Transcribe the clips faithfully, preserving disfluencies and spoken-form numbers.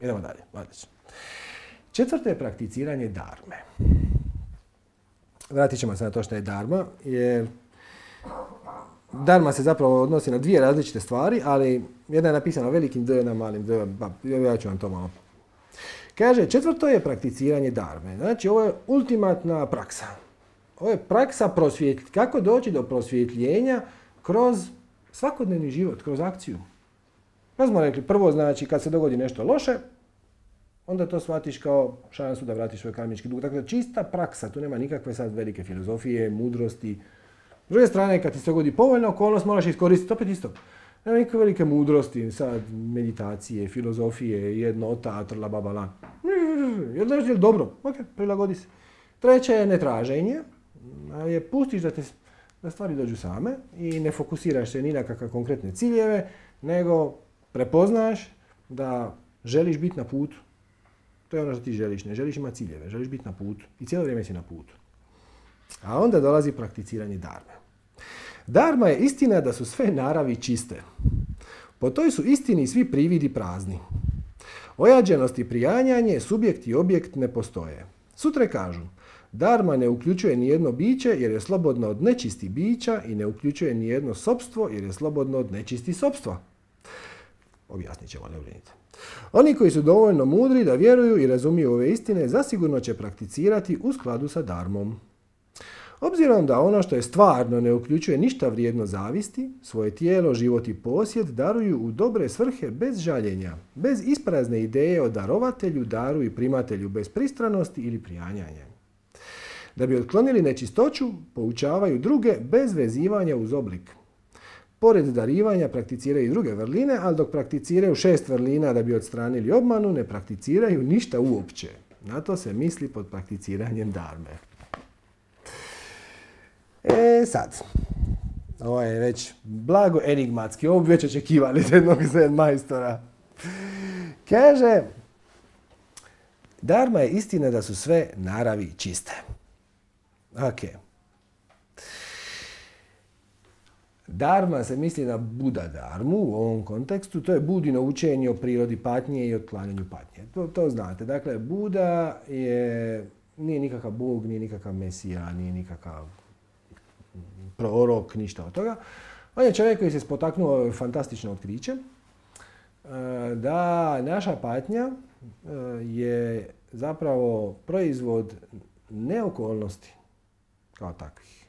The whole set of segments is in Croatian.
Idemo dalje. Odlično. Četvrto je prakticiranje dharme. Vratit ćemo se na to što je dharma, jer dharma se zapravo odnosi na dvije različite stvari, ali jedna je napisana velikim D, jedna malim D, ja ću vam to malo. Kaže, četvrto je prakticiranje dharme. Znači, ovo je ultimatna praksa. Ovo je praksa prosvjetljenja. Kako doći do prosvjetljenja kroz svakodnevni život, kroz akciju. Pa smo rekli, prvo znači kad se dogodi nešto loše, onda to shvatiš kao šansu da vratiš svoj karmički dug. Dakle, čista praksa, tu nema nikakve sad velike filozofije, mudrosti. S druge strane, kad ti se dogodi povoljna okolnost, moraš iskoristiti opet isto. Nema nikakve velike mudrosti, sad meditacije, filozofije, jednota, trla babala. Jel da je dobro? Ok, prilagodi se. Treće je netraženje, je pustiš da, te, da stvari dođu same i ne fokusiraš se ni na kakve konkretne ciljeve, nego prepoznaš da želiš biti na putu. To je ono što ti želiš, ne želiš imati ciljeve, želiš biti na putu i cijelo vrijeme si na putu. A onda dolazi prakticiranje dharme. Dharma je istina da su sve naravi čiste. Po toj su istini svi prividi prazni. Ojađenost i prijanjanje, subjekt i objekt ne postoje. Sutre kažu, dharma ne uključuje nijedno biće jer je slobodno od nečisti bića i ne uključuje nijedno sopstvo jer je slobodno od nečisti sopstva. Objasnit ćemo, ne brinite. Oni koji su dovoljno mudri da vjeruju i razumiju ove istine, zasigurno će prakticirati u skladu sa dharmom. Obzirom da ono što je stvarno ne uključuje ništa vrijedno zavisti, svoje tijelo, život i posjed daruju u dobre svrhe bez žaljenja, bez isprazne ideje o darovatelju, daru i primatelju, bez pristranosti ili prijanjanja. Da bi otklonili nečistoću, poučavaju druge bez vezivanja uz oblik. Pored darivanja prakticiraju i druge vrline, ali dok prakticiraju šest vrlina da bi odstranili obmanu, ne prakticiraju ništa uopće. Na to se misli pod prakticiranjem dharme. E sad, ovo je već blago enigmatski, ovo bi već očekivali od jednog zen majstora. Kaže, dharma je istina da su sve naravi čiste. Ok. Dharma se misli na Buda dharmu u ovom kontekstu, to je Budino učenje o prirodi patnje i otklanjanju patnje. To, to znate, dakle, Buda je, nije nikakav Bog, nije nikakav Mesija, nije nikakav prorok, ništa od toga. On je čovjek koji se spotaknuo fantastično otkriće da naša patnja je zapravo proizvod ne okolnosti kao takvih,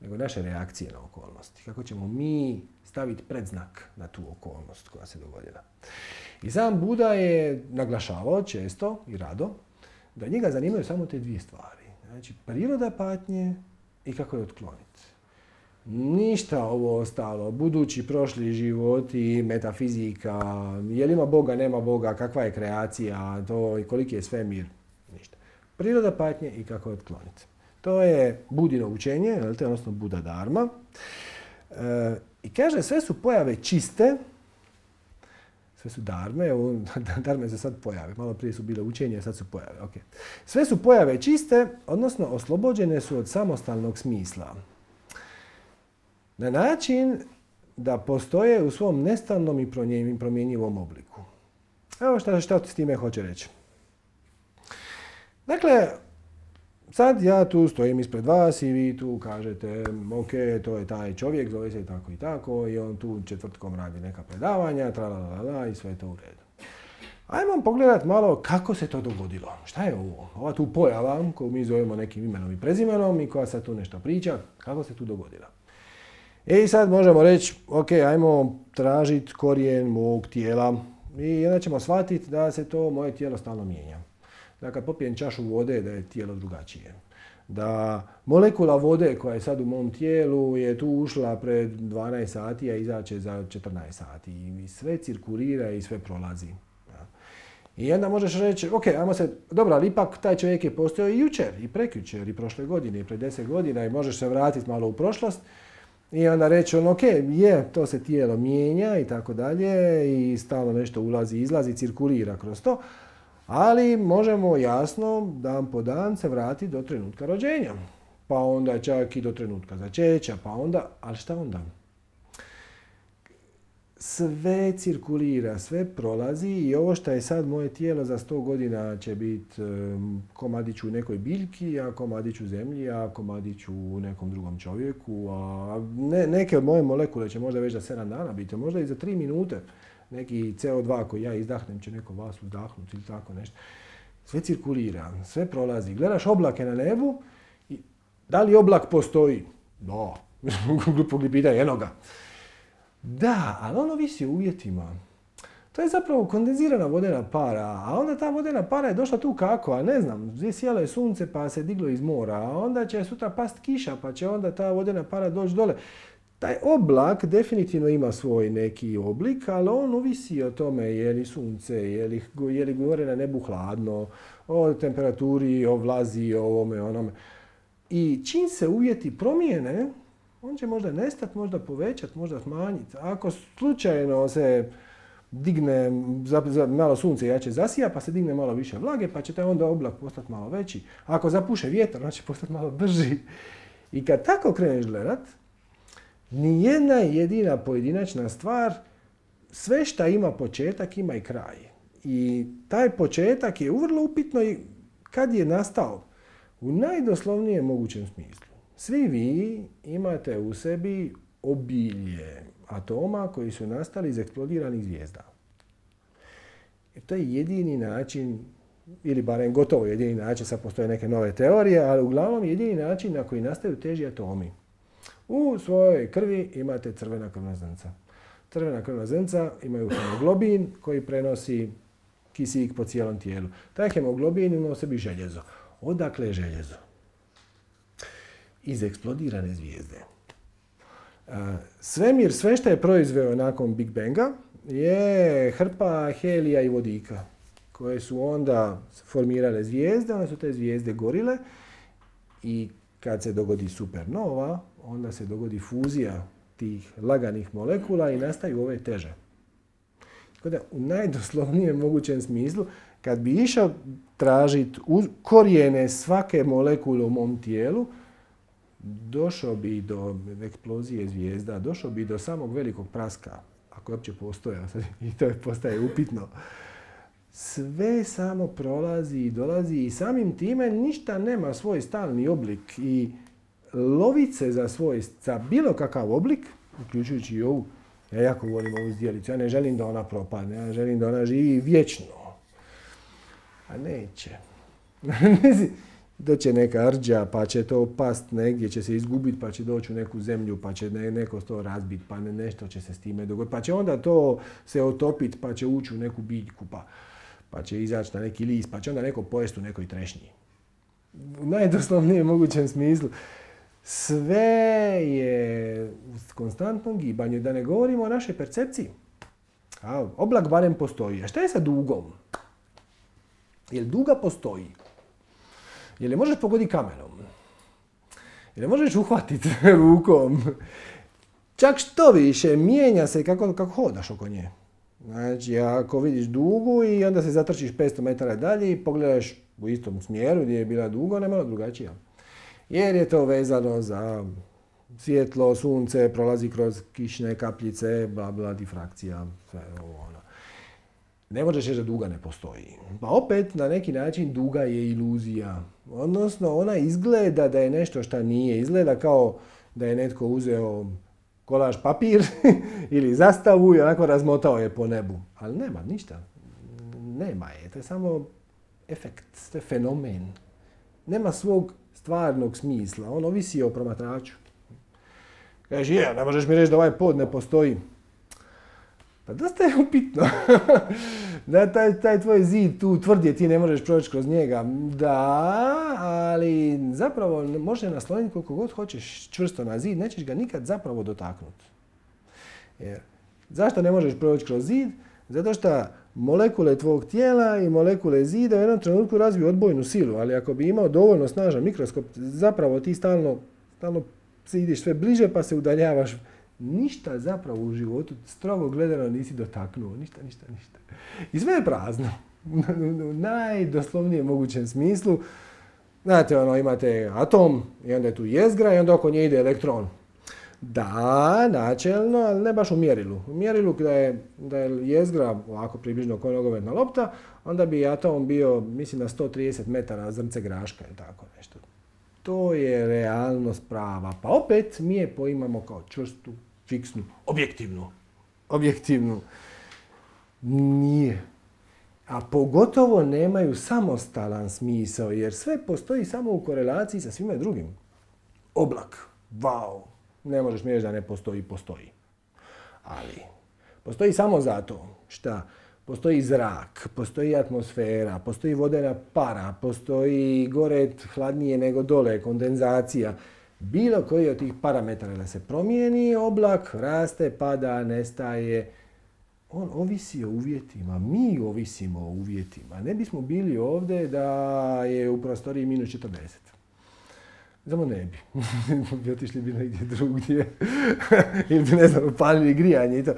nego naše reakcije na okolnosti. Kako ćemo mi staviti predznak na tu okolnost koja se dogodila. I sam Buda je naglašavao često i rado da njega zanimaju samo te dvije stvari. Znači, priroda patnje i kako je otkloniti. Ništa ovo ostalo, budući, prošli životi, metafizika, je li ima Boga, nema Boga, kakva je kreacija, to i koliki je svemir, ništa. Priroda patnje i kako je otkloniti. To je Budino učenje, odnosno Buda dharma. E, I kaže, sve su pojave čiste, sve su dharme, dharme se sad pojave, malo prije su bile učenje, sad su pojave. Okay. Sve su pojave čiste, odnosno oslobođene su od samostalnog smisla. Na način da postoje u svom nestalnom i promjenjivom obliku. Evo šta, šta s time hoće reći. Dakle, sad ja tu stojim ispred vas i vi tu kažete, ok, to je taj čovjek, zove se tako i tako, i on tu četvrtkom radi neka predavanja, tralalala, i sve je to u redu. Ajmo pogledati malo kako se to dogodilo. Šta je ovo? Ova tu pojava koju mi zovemo nekim imenom i prezimenom i koja sad tu nešto priča, kako se tu dogodila. I sad možemo reći, ok, ajmo tražiti korijen mog tijela i onda ćemo shvatiti da se to moje tijelo stalno mijenja. Da kad popijem čašu vode, da je tijelo drugačije. Da molekula vode koja je sad u mom tijelu je tu ušla pred dvanaest sati, a izaće za četrnaest sati. I sve cirkulira i sve prolazi. I onda možeš reći, ok, ajmo se, dobro, ali ipak taj čovjek je postojao i jučer, i prekjučer, i prošle godine, i pred deset godina, i možeš se vratiti malo u prošlost. I onda reći on, ok, je, to se tijelo mijenja i tako dalje i stalno nešto ulazi, izlazi, cirkulira kroz to, ali možemo jasno dan po dan se vratiti do trenutka rođenja. Pa onda čak i do trenutka začeća, pa onda, ali šta onda? sve cirkulira, sve prolazi i ovo što je sad moje tijelo za sto godina će biti um, komadić u nekoj biljki, a komadić u zemlji, a komadić u nekom drugom čovjeku, a ne, neke od moje molekule će možda već za sedam dana biti, možda i za tri minute. Neki C O dva koji ja izdahnem će neko vas uzdahnuti ili tako nešto. Sve cirkulira, sve prolazi. Gledaš oblake na nebu i da li oblak postoji? Da, glupo li pitanje, eno ga. Da, ali ono visi o uvjetima. To je zapravo kondenzirana vodena para, a onda ta vodena para je došla tu kako, a ne znam, sjelo je sunce pa se diglo iz mora, a onda će sutra past kiša pa će onda ta vodena para doći dole. Taj oblak definitivno ima svoj neki oblik, ali on ovisi o tome je li sunce, je li, je li gore na nebu hladno, o temperaturi, o vlazi, o ovome, onome. I čim se uvjeti promijene, on će možda nestati, možda povećati, možda smanjiti. Ako slučajno se digne, za, za, malo sunce jače zasija, pa se digne malo više vlage, pa će taj onda oblak postati malo veći. Ako zapuše vjetar, on će postati malo brži. I kad tako kreneš gledat, nijedna jedina pojedinačna stvar, sve što ima početak, ima i kraj. I taj početak je vrlo upitno i kad je nastao. U najdoslovnijem mogućem smislu. Svi vi imate u sebi obilje atoma koji su nastali iz eksplodiranih zvijezda. I to je jedini način, ili barem gotovo jedini način, sad postoje neke nove teorije, ali uglavnom jedini način na koji nastaju teži atomi. U svojoj krvi imate crvena krvna zrnca. Crvena krvna zrnca imaju hemoglobin koji prenosi kisik po cijelom tijelu. Taj hemoglobin ima u sebi željezo. Odakle je željezo? Iz eksplodirane zvijezde. Svemir, sve što je proizveo nakon Big Banga, je hrpa helija i vodika, koje su onda formirale zvijezde, onda su te zvijezde gorile i kad se dogodi supernova, onda se dogodi fuzija tih laganih molekula i nastaju ove teže. Tako da, u najdoslovnijem mogućem smislu, kad bi išao tražiti korijene svake molekule u mom tijelu, došao bi do eksplozije zvijezda, došao bi do samog velikog praska, ako je uopće postojao, i to postaje upitno. Sve samo prolazi i dolazi i samim time ništa nema svoj stalni oblik i lovit se za svoj, za bilo kakav oblik, uključujući i ovu, ja jako volim ovu zdjelicu, ja ne želim da ona propadne, ja želim da ona živi vječno. A neće. Doće neka rđa, pa će to past negdje, će se izgubiti, pa će doći u neku zemlju, pa će neko to razbiti, pa nešto će se s time dogoditi. Pa će onda to se otopiti, pa će ući u neku biljku, pa, pa će izaći na neki list, pa će onda neko pojesti u nekoj trešnji. U najdoslovnijem mogućem smislu. Sve je u konstantnom gibanju, da ne govorimo o našoj percepciji. A, oblak barem postoji. A šta je sa dugom? Jel duga postoji? Jel je možeš pogoditi kamenom? Jel je možeš uhvatiti rukom? Čak što više, mijenja se kako, kako hodaš oko nje. Znači, ako vidiš dugu i onda se zatrčiš petsto metara dalje i pogledaš u istom smjeru gdje je bila duga, ona je malo drugačija. Jer je to vezano za svjetlo, sunce, prolazi kroz kišne kapljice, bla bla, difrakcija, sve ovo ono. Ne možeš reći da duga ne postoji. Pa opet, na neki način, duga je iluzija. Odnosno, ona izgleda da je nešto što nije. Izgleda kao da je netko uzeo kolaž papir ili zastavu i onako razmotao je po nebu. Ali nema ništa. Nema je. To je samo efekt, to je fenomen. Nema svog stvarnog smisla. On ovisi o promatraču. Kaže, je, ne možeš mi reći da ovaj pod ne postoji. Pa dosta je upitno. Da, taj, taj tvoj zid tu tvrdje, ti ne možeš proći kroz njega. Da, ali zapravo može nasloniti koliko god hoćeš čvrsto na zid, nećeš ga nikad zapravo dotaknuti. Jer, zašto ne možeš proći kroz zid? Zato što molekule tvog tijela i molekule zida u jednom trenutku razviju odbojnu silu, ali ako bi imao dovoljno snažan mikroskop, zapravo ti stalno, stalno se ideš sve bliže pa se udaljavaš. Ništa zapravo u životu, strogo gledano, nisi dotaknuo. Ništa, ništa, ništa. I sve je prazno. U najdoslovnijem mogućem smislu. Znate, ono, imate atom i onda je tu jezgra i onda oko nje ide elektron. Da, načelno, ali ne baš u mjerilu. U mjerilu da je, da je jezgra ovako približno kao nogometna lopta, onda bi atom bio, mislim, na sto trideset metara zrnce graška ili tako nešto. To je realnost prava. Pa opet mi je poimamo kao čvrstu, fiksnu, objektivnu. Objektivnu. Nije. A pogotovo nemaju samostalan smisao, jer sve postoji samo u korelaciji sa svime drugim. Oblak. Wow. Ne možeš mi reći da ne postoji, postoji. Ali postoji samo zato šta postoji zrak, postoji atmosfera, postoji vodena para, postoji gore hladnije nego dole, kondenzacija. Bilo koji od tih parametara da se promijeni, oblak raste, pada, nestaje. On ovisi o uvjetima, mi ovisimo o uvjetima. Ne bismo bili ovdje da je u prostoriji minus četrdeset. Samo ne bi. bi otišli bi negdje drugdje. Ili bi, ne znam, upalili grijanje i to.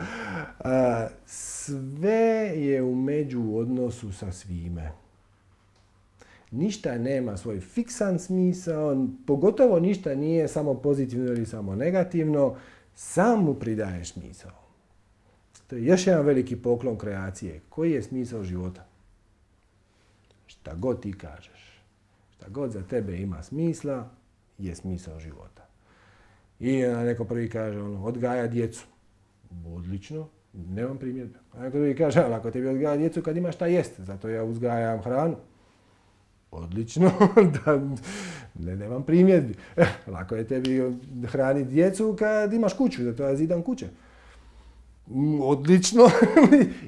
A, sve je u međuodnosu sa svime. Ništa nema svoj fiksan smisao, pogotovo ništa nije samo pozitivno ili samo negativno, sam mu pridaješ smisao. To je još jedan veliki poklon kreacije. Koji je smisao života? Šta god ti kažeš, šta god za tebe ima smisla, je smisao života. I neko prvi kaže, ono, odgaja djecu. Odlično, nemam primjedbe. A neko drugi kaže, ali ako tebi odgaja djecu kad imaš šta jesti, zato ja uzgajam hranu. Odlično, da, ne, nemam primjedbi. Eh, lako je tebi hraniti djecu kad imaš kuću, zato ja zidam kuće. Odlično.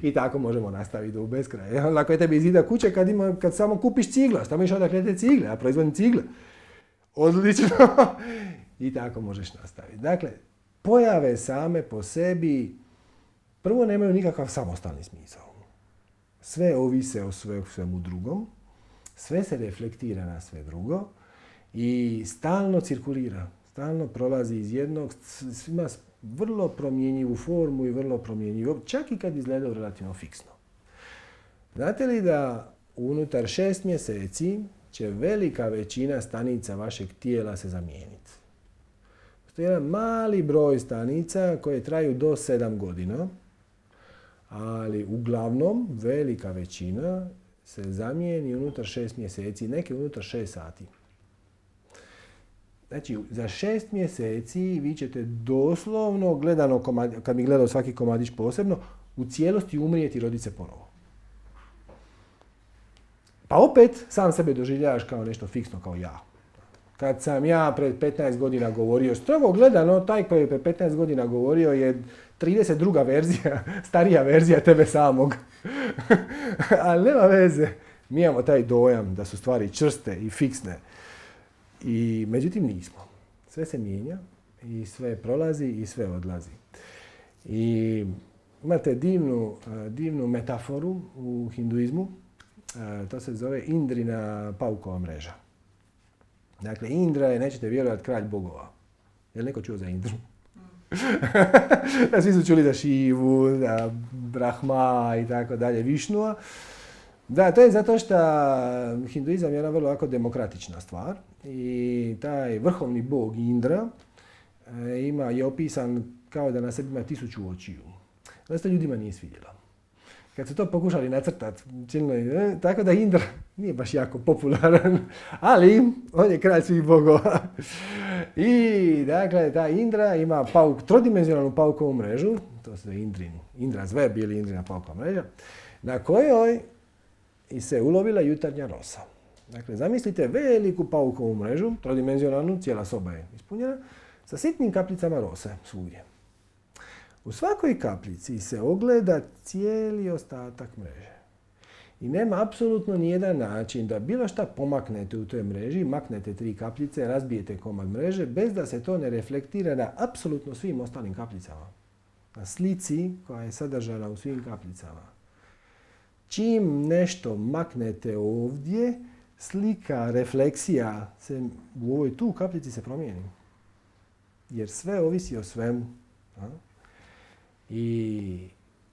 I tako možemo nastaviti do beskraja. Lako je tebi zida kuće kad, ima, kad samo kupiš cigla, samo iš odakle te cigle, ja proizvodim cigle. Odlično. I tako možeš nastaviti. Dakle, pojave same po sebi prvo nemaju nikakav samostalni smisao. Sve ovise o sve, svemu drugom, sve se reflektira na sve drugo i stalno cirkulira, stalno prolazi iz jednog, ima vrlo promjenjivu formu i vrlo promjenjivu, čak i kad izgleda relativno fiksno. Znate li da unutar šest mjeseci će velika većina stanica vašeg tijela se zamijeniti? Postoji jedan mali broj stanica koje traju do sedam godina, ali uglavnom velika većina se zamijeni unutar šest mjeseci, neke unutar šest sati. Znači, za šest mjeseci vi ćete doslovno, gledano, kad mi gledao svaki komadić posebno, u cijelosti umrijeti i roditi se ponovo. Pa opet, sam sebe doživljavaš kao nešto fiksno, kao ja. Kad sam ja pred petnaest godina govorio, strogo gledano, taj koji je pred petnaest godina govorio je trideset druga verzija, starija verzija tebe samog. Ali nema veze. Mi imamo taj dojam da su stvari čvrste i fiksne. I međutim nismo. Sve se mijenja i sve prolazi i sve odlazi. I imate divnu, divnu metaforu u hinduizmu. To se zove Indrina paukova mreža. Dakle, Indra je, nećete vjerovati, kralj bogova. Je li neko čuo za Indru? Svi su čuli za Šivu, za Brahma i tako dalje, Višnua. Da, to je zato što hinduizam je jedna vrlo ovako demokratična stvar i taj vrhovni bog Indra ima, je opisan kao da na sebi ima tisuću očiju. Da se to ljudima nije svidjelo. Kad su to pokušali nacrtati, tako da Indra nije baš jako popularan, ali on je kralj svih bogova. I dakle, ta Indra ima pauk, trodimenzionalnu paukovu mrežu, to se zove Indrin, Indra's web ili Indrina paukova mreža, na kojoj i se ulovila jutarnja rosa. Dakle, zamislite veliku paukovu mrežu, trodimenzionalnu, cijela soba je ispunjena, sa sitnim kapljicama rose svugdje. U svakoj kapljici se ogleda cijeli ostatak mreže. I nema apsolutno nijedan način da bilo šta pomaknete u toj mreži, maknete tri kapljice, razbijete komad mreže, bez da se to ne reflektira na apsolutno svim ostalim kapljicama. Na slici koja je sadržana u svim kapljicama. Čim nešto maknete ovdje, slika, refleksija se u ovoj tu kapljici se promijeni. Jer sve ovisi o svemu. I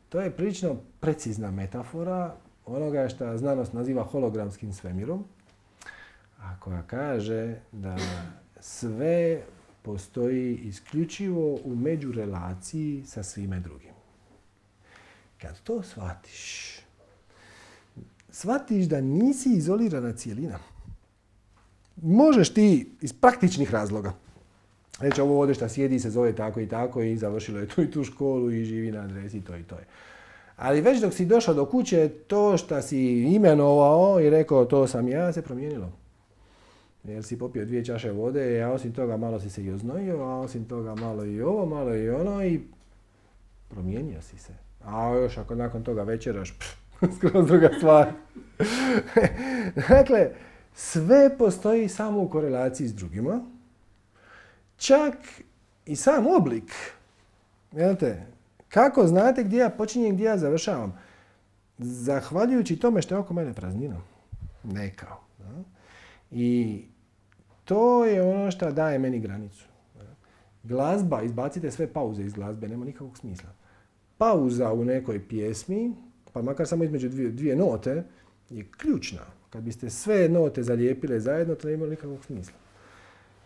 to je prilično precizna metafora onoga što znanost naziva hologramskim svemirom, a koja kaže da sve postoji isključivo u međurelaciji sa svime drugim. Kad to shvatiš, shvatiš da nisi izolirana cijelina. Možeš ti iz praktičnih razloga reći ovo ovdje šta sjedi se zove tako i tako i završilo je tu i tu školu i živi na adresi to i to je. Ali već dok si došao do kuće, to što si imenovao i rekao to sam ja, se promijenilo. Jer si popio dvije čaše vode, a osim toga malo si se i oznojio, a osim toga malo i ovo, malo i ono i promijenio si se. A još ako nakon toga večeraš, pff, skroz druga stvar. Dakle, sve postoji samo u korelaciji s drugima. Čak i sam oblik. Znate, kako znate gdje ja počinjem, gdje ja završavam? Zahvaljujući tome što je oko mene praznina. Neka. I to je ono što daje meni granicu. Glazba, izbacite sve pauze iz glazbe, nema nikakvog smisla. Pauza u nekoj pjesmi, pa makar samo između dvije, dvije note, je ključna. Kad biste sve note zalijepile zajedno, to ne ima nikakvog smisla.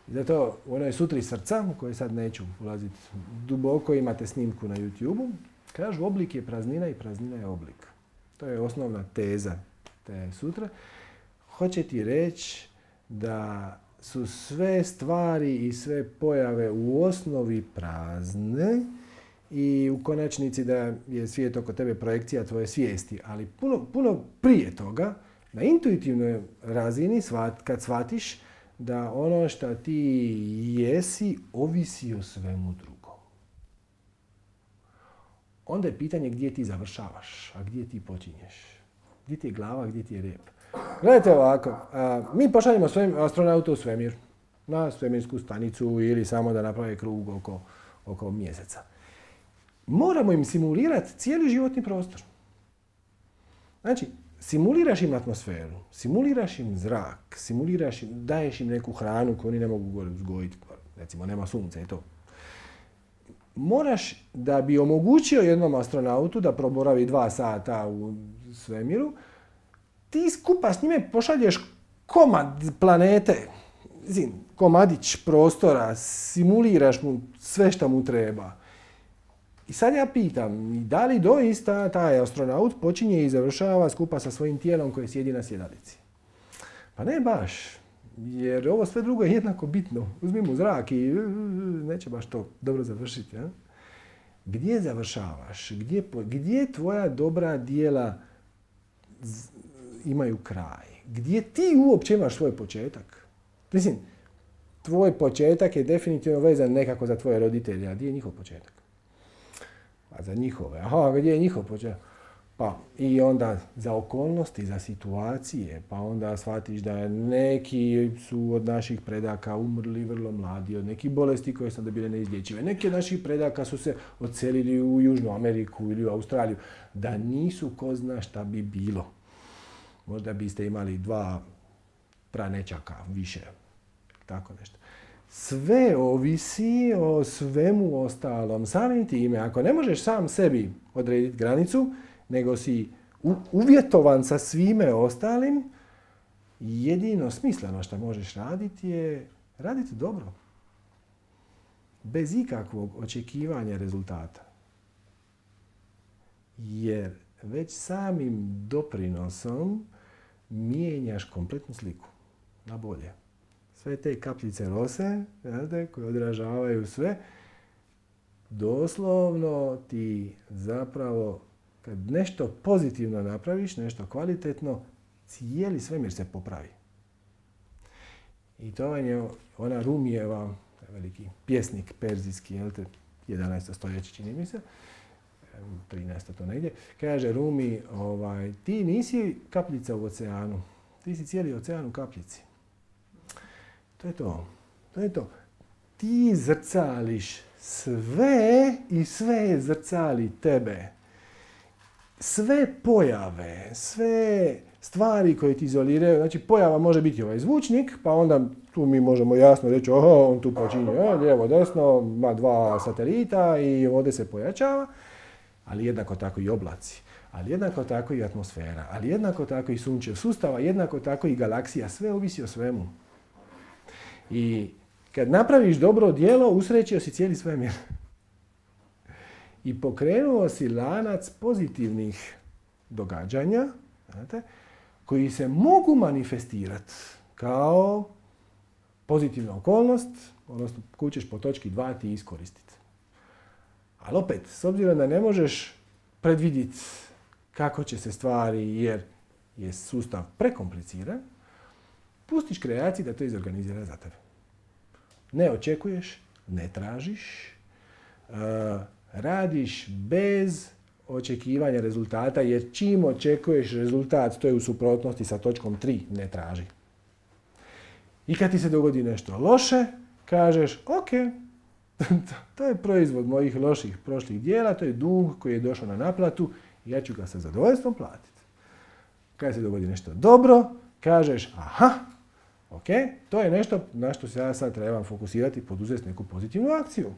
I zato u onoj sutri srca, u kojoj sad neću ulaziti duboko, imate snimku na YouTube-u, kažu oblik je praznina i praznina je oblik. To je osnovna teza te sutre. Hoće ti reći da su sve stvari i sve pojave u osnovi prazne i u konačnici da je svijet oko tebe projekcija tvoje svijesti. Ali puno, puno prije toga, na intuitivnoj razini, kad shvatiš da ono što ti jesi ovisi o svemu drugom. Onda je pitanje gdje ti završavaš, a gdje ti počinješ. Gdje ti je glava, gdje ti je rep. Gledajte ovako, a, mi pošaljemo astronauta u svemir, na svemirsku stanicu ili samo da naprave krug oko, oko mjeseca. Moramo im simulirati cijeli životni prostor. Znači, simuliraš im atmosferu, simuliraš im zrak, simuliraš im, daješ im neku hranu koju oni ne mogu gore uzgojiti, recimo nema sunca i to. Moraš, da bi omogućio jednom astronautu da proboravi dva sata u svemiru, ti skupa s njime pošalješ komad planete, zin, komadić prostora, simuliraš mu sve što mu treba. I sad ja pitam, da li doista taj astronaut počinje i završava skupa sa svojim tijelom koje sjedi na sjedalici? Pa ne baš, jer ovo sve drugo je jednako bitno. Uzmi mu zrak i neće baš to dobro završiti. Ja? Gdje završavaš? Gdje, gdje tvoja dobra djela imaju kraj? Gdje ti uopće imaš svoj početak? Mislim, tvoj početak je definitivno vezan nekako za tvoje roditelje, a gdje je njihov početak? Pa za njihove. Aha, gdje je njihov početak? Pa i onda za okolnosti, za situacije, pa onda shvatiš da neki su od naših predaka umrli vrlo mladi, od nekih bolesti koje su onda bile neizlječive. Neki od naših predaka su se odselili u Južnu Ameriku ili u Australiju. Da nisu, ko zna šta bi bilo. Možda biste imali dva pranečaka više. Tako nešto. Sve ovisi o svemu ostalom. Samim time, ako ne možeš sam sebi odrediti granicu, nego si uvjetovan sa svime ostalim, jedino smisleno što možeš raditi je raditi dobro. Bez ikakvog očekivanja rezultata. Jer već samim doprinosom mijenjaš kompletnu sliku na bolje. Sve te kapljice rose, znate, koje odražavaju sve, doslovno ti zapravo, kad nešto pozitivno napraviš, nešto kvalitetno, cijeli svemir se popravi. I to je ona Rumijeva, veliki pjesnik perzijski, jel te, jedanaesto stoljeće čini mi se, trinaesto to negdje, kaže Rumi, ovaj, ti nisi kapljica u oceanu, ti si cijeli ocean u kapljici. To je to. To je to. Ti zrcališ sve i sve zrcali tebe. Sve pojave, sve stvari koje ti izoliraju, znači pojava može biti ovaj zvučnik, pa onda tu mi možemo jasno reći, oho, on tu počinje, lijevo, desno, ima dva satelita i ovdje se pojačava, ali jednako tako i oblaci, ali jednako tako i atmosfera, ali jednako tako i sunčev sustava, jednako tako i galaksija, sve ovisi o svemu. I kad napraviš dobro djelo, usrećio si cijeli svemir. I pokrenuo si lanac pozitivnih događanja, znate, koji se mogu manifestirati kao pozitivna okolnost, odnosno koju ćeš po točki dva ti iskoristiti. Ali opet, s obzirom da ne možeš predvidjeti kako će se stvari, jer je sustav prekompliciran, pustiš kreaciji da to izorganizira za tebe. Ne očekuješ, ne tražiš, uh, radiš bez očekivanja rezultata, jer čim očekuješ rezultat, to je u suprotnosti sa točkom tri, ne traži. I kad ti se dogodi nešto loše, kažeš, ok, to je proizvod mojih loših prošlih dijela, to je dug koji je došao na naplatu i ja ću ga sa zadovoljstvom platiti. Kad se dogodi nešto dobro, kažeš, aha, ok, to je nešto na što se ja sad trebam fokusirati i poduzeti neku pozitivnu akciju.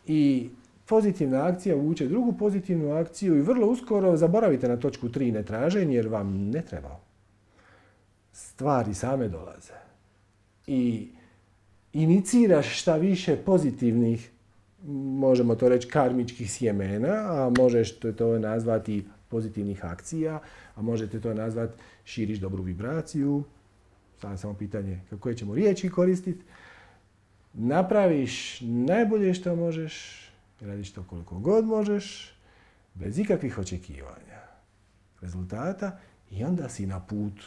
I pozitivna akcija vuče drugu pozitivnu akciju i vrlo uskoro zaboravite na točku tri netraženje jer vam ne treba. Stvari same dolaze. I iniciraš šta više pozitivnih, možemo to reći karmičkih sjemena, a možeš to nazvati pozitivnih akcija, a možete to nazvati širiš dobru vibraciju. Sada samo pitanje koje ćemo riječi koristiti. Napraviš najbolje što možeš, radiš to koliko god možeš, bez ikakvih očekivanja rezultata i onda si na putu.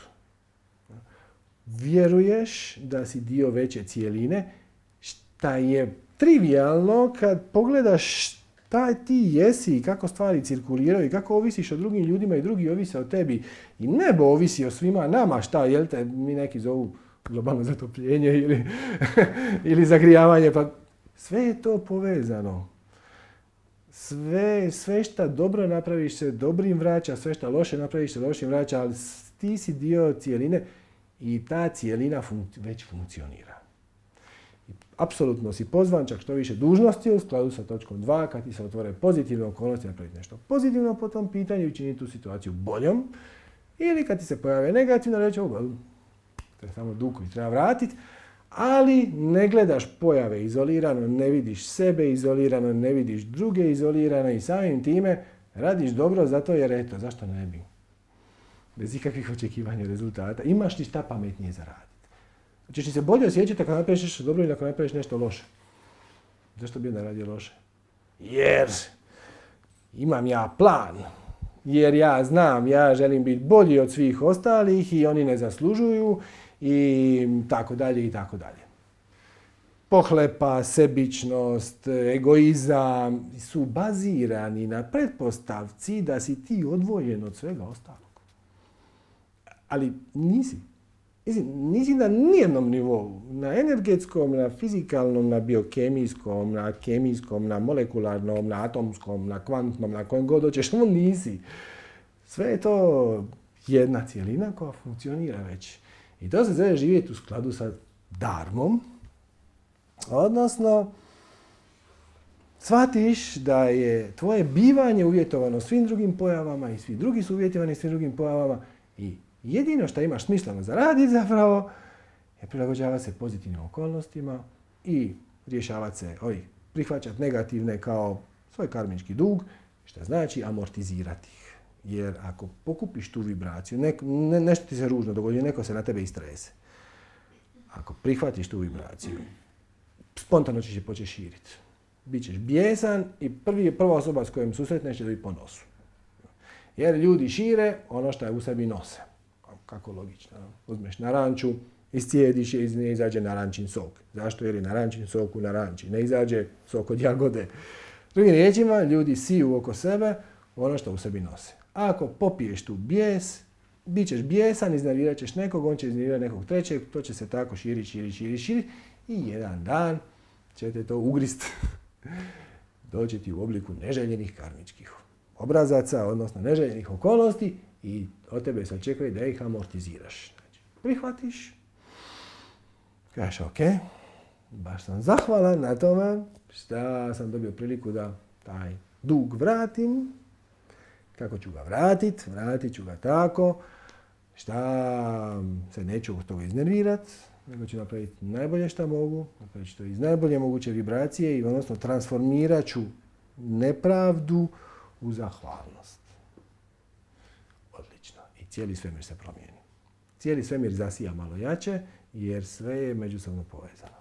Vjeruješ da si dio veće cijeline, šta je trivijalno kad pogledaš šta ti jesi i kako stvari cirkuliraju i kako ovisiš o drugim ljudima i drugi ovise o tebi. I nebo ovisi o svima nama, šta, jel te, mi neki zovu globalno zatopljenje ili, ili zagrijavanje, pa sve je to povezano. Sve, sve šta dobro napraviš se dobrim vraća, sve šta loše napraviš se lošim vraća, ali ti si dio cijeline i ta cijelina fun- već funkcionira. I apsolutno si pozvan, čak što više dužnosti u skladu sa točkom dva, kad ti se otvore pozitivne okolnosti, napraviti nešto pozitivno po tom pitanju i učiniti tu situaciju boljom. Ili kad ti se pojave negativno, reći, oh, to je samo dug koji treba vratiti, ali ne gledaš pojave izolirano, ne vidiš sebe izolirano, ne vidiš druge izolirano i samim time radiš dobro zato jer eto, zašto ne bi? Bez ikakvih očekivanja rezultata. Imaš li šta pametnije za raditi? Češ li se bolje osjećati ako napraviš nešto dobro ili ako napraviš nešto loše? Zašto bi onda radio loše? Jer imam ja plan. Jer ja znam, ja želim biti bolji od svih ostalih i oni ne zaslužuju i tako dalje i tako dalje. Pohlepa, sebičnost, egoizam su bazirani na pretpostavci da si ti odvojen od svega ostalog. Ali nisi. Mislim, nisi na nijednom nivou. Na energetskom, na fizikalnom, na biokemijskom, na kemijskom, na molekularnom, na atomskom, na kvantnom, na kojem god hoćeš, ono nisi. Sve je to jedna cijelina koja funkcionira već. I to se zove živjeti u skladu sa dharmom. Odnosno, shvatiš da je tvoje bivanje uvjetovano svim drugim pojavama i svi drugi su uvjetovani svim drugim pojavama i jedino što imaš smisleno za raditi zapravo je prilagođavati se pozitivnim okolnostima i rješavati se, oj, prihvaćati negativne kao svoj karmički dug, što znači amortizirati ih. Jer ako pokupiš tu vibraciju, ne, ne, nešto ti se ružno dogodi, neko se na tebe istrese. Ako prihvatiš tu vibraciju, spontano ćeš je početi širiti. Bićeš bijesan i prvi, prva osoba s kojom susretneš će dobiti po nosu. Jer ljudi šire ono što je u sebi nose. Kako logično. Uzmeš naranču, iscijediš je i iz nje izađe narančin sok. Zašto? Jer je narančin sok u naranči. Ne izađe sok od jagode. Drugim riječima, ljudi siju oko sebe ono što u sebi nose. Ako popiješ tu bijes, bit ćeš bijesan, iznervirat ćeš nekog, on će iznervirati nekog trećeg, to će se tako širiti, širiti, širiti, širiti i jedan dan ćete to ugrist. Doći ti u obliku neželjenih karmičkih obrazaca, odnosno neželjenih okolnosti i od tebe se očekuje da ih amortiziraš. Znači, prihvatiš, kažeš ok, baš sam zahvalan na tome što sam dobio priliku da taj dug vratim. Kako ću ga vratit? Vratit ću ga tako šta se neću od toga iznervirat, nego ću napraviti najbolje što mogu, napravit ću to iz najbolje moguće vibracije i odnosno transformirat ću nepravdu u zahvalnost. Odlično. I cijeli svemir se promijeni. Cijeli svemir zasija malo jače jer sve je međusobno povezano.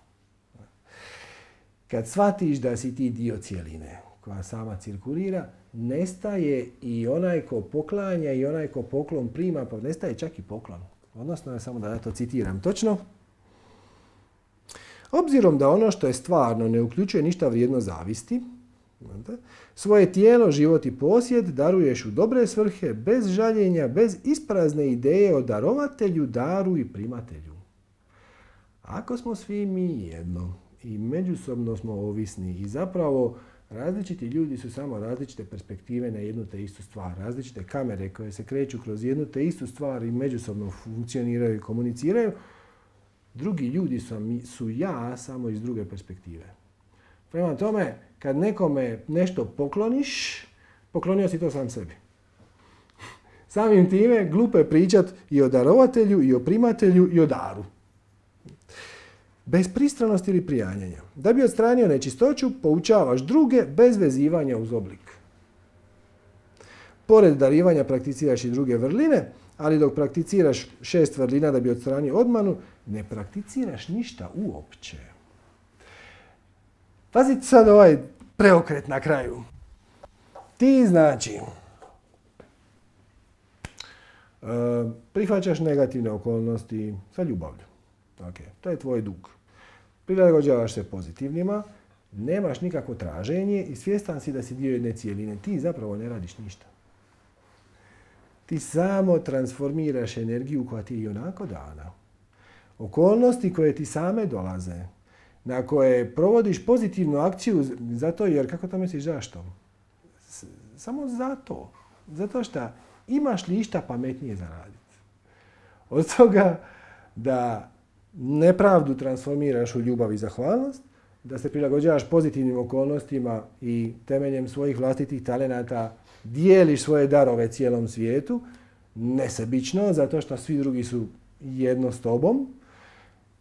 Kad shvatiš da si ti dio cijeline koja sama cirkulira, nestaje i onaj ko poklanja i onaj ko poklon prima, pa nestaje čak i poklon. Odnosno, samo da ja to citiram točno. Obzirom da ono što je stvarno ne uključuje ništa vrijedno zavisti, svoje tijelo, život i posjed daruješ u dobre svrhe, bez žaljenja, bez isprazne ideje o darovatelju, daru i primatelju. Ako smo svi mi jedno i međusobno smo ovisni i zapravo različiti ljudi su samo različite perspektive na jednu te istu stvar, različite kamere koje se kreću kroz jednu te istu stvar i međusobno funkcioniraju i komuniciraju, drugi ljudi su, su ja samo iz druge perspektive. Prema tome, kad nekome nešto pokloniš, poklonio si to sam sebi. Samim time glupo je pričat i o darovatelju, i o primatelju, i o daru. Bez pristranosti ili prijanjanja. Da bi odstranio nečistoću, poučavaš druge bez vezivanja uz oblik. Pored darivanja prakticiraš i druge vrline, ali dok prakticiraš šest vrlina da bi odstranio odmanu, ne prakticiraš ništa uopće. Pazite sad ovaj preokret na kraju. Ti znači uh, prihvaćaš negativne okolnosti sa ljubavlju. Okay. To je tvoj dug. Prilagođavaš se pozitivnima, nemaš nikakvo traženje i svjestan si da si dio jedne cijeline. Ti zapravo ne radiš ništa. Ti samo transformiraš energiju koja ti je i onako dana. Okolnosti koje ti same dolaze, na koje provodiš pozitivnu akciju zato jer, kako to misliš, zašto? S- samo zato. Zato što imaš li išta pametnije zaraditi. Od toga da nepravdu transformiraš u ljubav i zahvalnost, da se prilagođavaš pozitivnim okolnostima i temeljem svojih vlastitih talenata dijeliš svoje darove cijelom svijetu, nesebično, zato što svi drugi su jedno s tobom.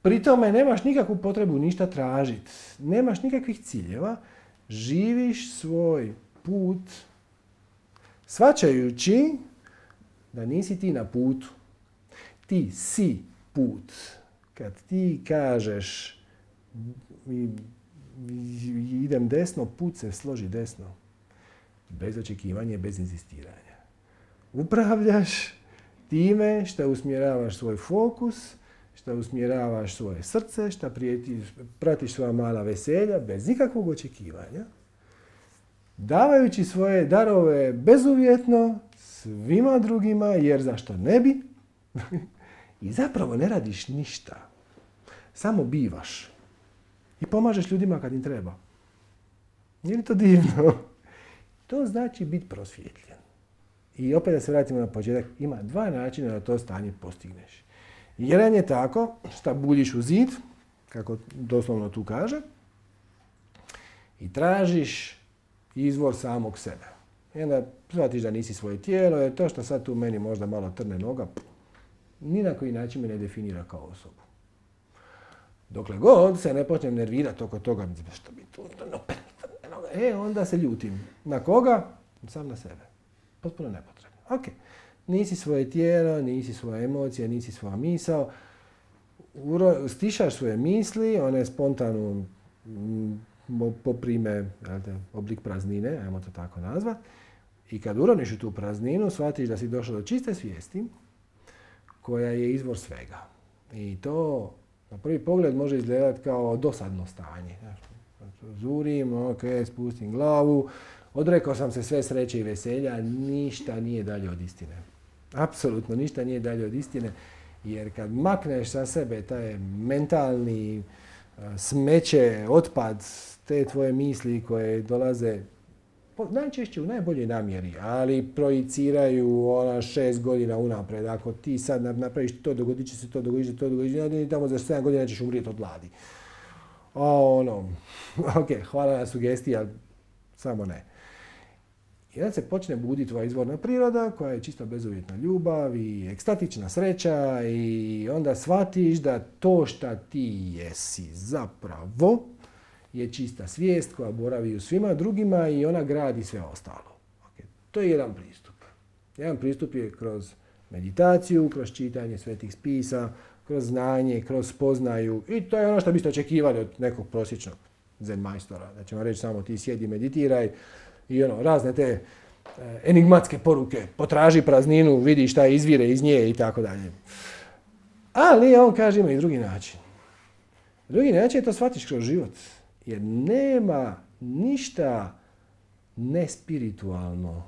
Pri tome nemaš nikakvu potrebu ništa tražiti, nemaš nikakvih ciljeva, živiš svoj put shvaćajući da nisi ti na putu. Ti si put. Kad ti kažeš idem desno, put se složi desno. Bez očekivanja, bez inzistiranja. Upravljaš time što usmjeravaš svoj fokus, što usmjeravaš svoje srce, što pratiš svoja mala veselja, bez nikakvog očekivanja, davajući svoje darove bezuvjetno svima drugima, jer zašto ne bi? I zapravo ne radiš ništa. Samo bivaš. I pomažeš ljudima kad im treba. Nije li to divno? To znači biti prosvjetljen. I opet da se vratimo na početak, ima dva načina da to stanje postigneš. Jedan je tako što buljiš u zid, kako doslovno tu kaže, i tražiš izvor samog sebe. I onda shvatiš da nisi svoje tijelo, jer to što sad tu meni možda malo trne noga, ni na koji način me ne definira kao osobu. Dokle god se ne počnem nervirati oko toga, što bi tu, e, onda se ljutim. Na koga? Sam na sebe. Potpuno nepotrebno. Ok. Nisi svoje tijelo, nisi svoje emocije, nisi svoja misao. Uro, stišaš svoje misli, one spontano poprime oblik praznine, ajmo to tako nazvat. I kad uroniš u tu prazninu, shvatiš da si došao do čiste svijesti, koja je izvor svega. I to na prvi pogled može izgledati kao dosadno stanje. Zurim, ok, spustim glavu, odrekao sam se sve sreće i veselja, ništa nije dalje od istine. Apsolutno ništa nije dalje od istine, jer kad makneš sa sebe taj mentalni smeće, otpad, te tvoje misli koje dolaze najčešće u najboljoj namjeri, ali projiciraju ona šest godina unaprijed. Ako ti sad napraviš to, dogodit će se to, dogodit će se to, dogodit će se to, tamo za sedam godina ćeš umrijeti od gladi. O, ono, ok, hvala na sugestiji, ali samo ne. I onda se počne buditi tvoja izvorna priroda koja je čisto bezuvjetna ljubav i ekstatična sreća i onda shvatiš da to šta ti jesi zapravo je čista svijest koja boravi u svima drugima i ona gradi sve ostalo. Okay. To je jedan pristup. Jedan pristup je kroz meditaciju, kroz čitanje svetih spisa, kroz znanje, kroz spoznaju i to je ono što biste očekivali od nekog prosječnog zen majstora. Da ćemo reći samo ti sjedi, meditiraj i ono, razne te e, enigmatske poruke, potraži prazninu, vidi šta izvire iz nje i tako dalje. Ali on kaže ima i drugi način. Drugi način je to shvatiš kroz život. Jer nema ništa nespiritualno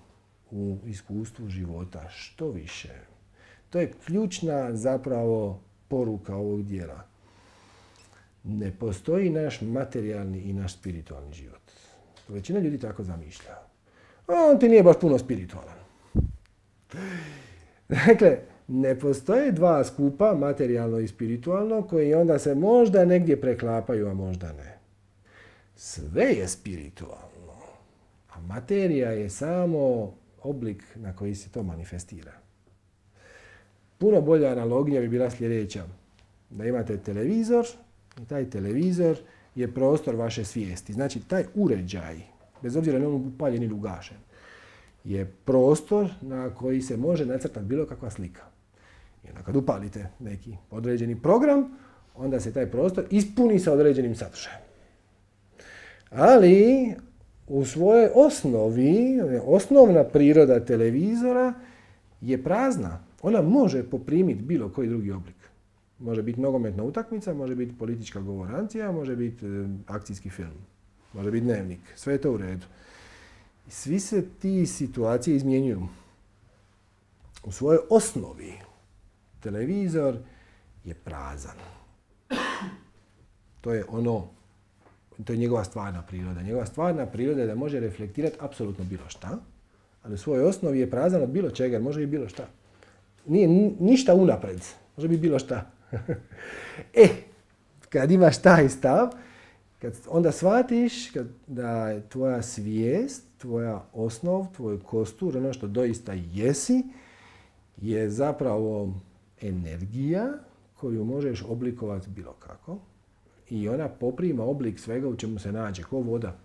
u iskustvu života. Što više. To je ključna zapravo poruka ovog dijela. Ne postoji naš materijalni i naš spiritualni život. Većina ljudi tako zamišlja. On ti nije baš puno spiritualan. Dakle, ne postoje dva skupa, materijalno i spiritualno, koji onda se možda negdje preklapaju, a možda ne. Sve je spiritualno, a materija je samo oblik na koji se to manifestira. Puno bolja analogija bi bila sljedeća. Da imate televizor i taj televizor je prostor vaše svijesti. Znači, taj uređaj, bez obzira na on upaljen ili ugašen, je prostor na koji se može nacrtati bilo kakva slika. I onda kad upalite neki određeni program, onda se taj prostor ispuni sa određenim sadržajem. Ali u svojoj osnovi, osnovna priroda televizora je prazna. Ona može poprimiti bilo koji drugi oblik. Može biti nogometna utakmica, može biti politička govorancija, može biti e, akcijski film, može biti dnevnik. Sve je to u redu. I svi se ti situacije izmjenjuju. U svojoj osnovi televizor je prazan. To je ono, to je njegova stvarna priroda. Njegova stvarna priroda je da može reflektirati apsolutno bilo šta, ali u svojoj osnovi je prazan od bilo čega, može biti bilo šta. Nije ništa unapred, može biti bilo šta. E, kad imaš taj stav, kad onda shvatiš kad, da je tvoja svijest, tvoja osnov, tvoj kostur, ono što doista jesi, je zapravo energija koju možeš oblikovati bilo kako i ona poprima oblik svega u čemu se nađe, ko voda.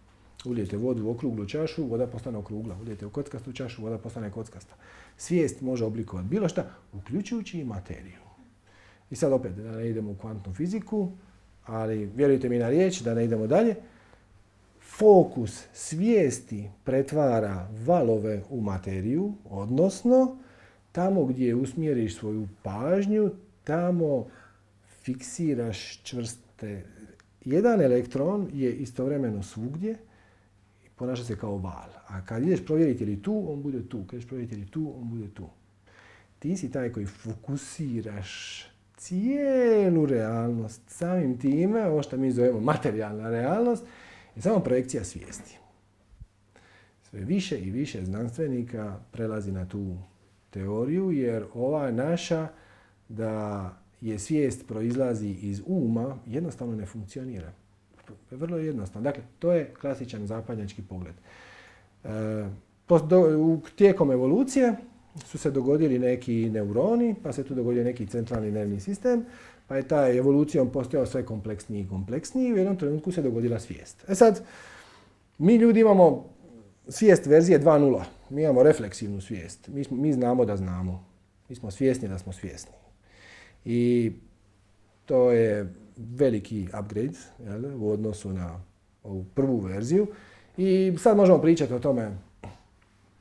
Ulijete vodu u okruglu čašu, voda postane okrugla. Ulijete u kockastu čašu, voda postane kockasta. Svijest može oblikovati bilo šta, uključujući i materiju. I sad opet, da ne idemo u kvantnu fiziku, ali vjerujte mi na riječ, da ne idemo dalje, fokus svijesti pretvara valove u materiju, odnosno tamo gdje usmjeriš svoju pažnju, tamo fiksiraš čvrste. Jedan elektron je istovremeno svugdje i ponaša se kao val. A kad ideš provjeriti li tu, on bude tu. Kad ideš provjeriti li tu, on bude tu. Ti si taj koji fokusiraš cijelu realnost. Samim time, ovo što mi zovemo materijalna realnost, je samo projekcija svijesti. Sve više i više znanstvenika prelazi na tu teoriju, jer ova naša da je svijest proizlazi iz uma, jednostavno ne funkcionira. Vrlo jednostavno. Dakle, to je klasičan zapadnjački pogled. E, tijekom evolucije su se dogodili neki neuroni, pa se tu dogodio neki centralni nervni sistem, pa je taj evolucijom postojao sve kompleksniji i kompleksniji i u jednom trenutku se dogodila svijest. E sad, mi ljudi imamo svijest verzije dva nula. Mi imamo refleksivnu svijest. Mi, smo, mi znamo da znamo. Mi smo svjesni da smo svjesni. I to je veliki upgrade, jel, u odnosu na ovu prvu verziju. I sad možemo pričati o tome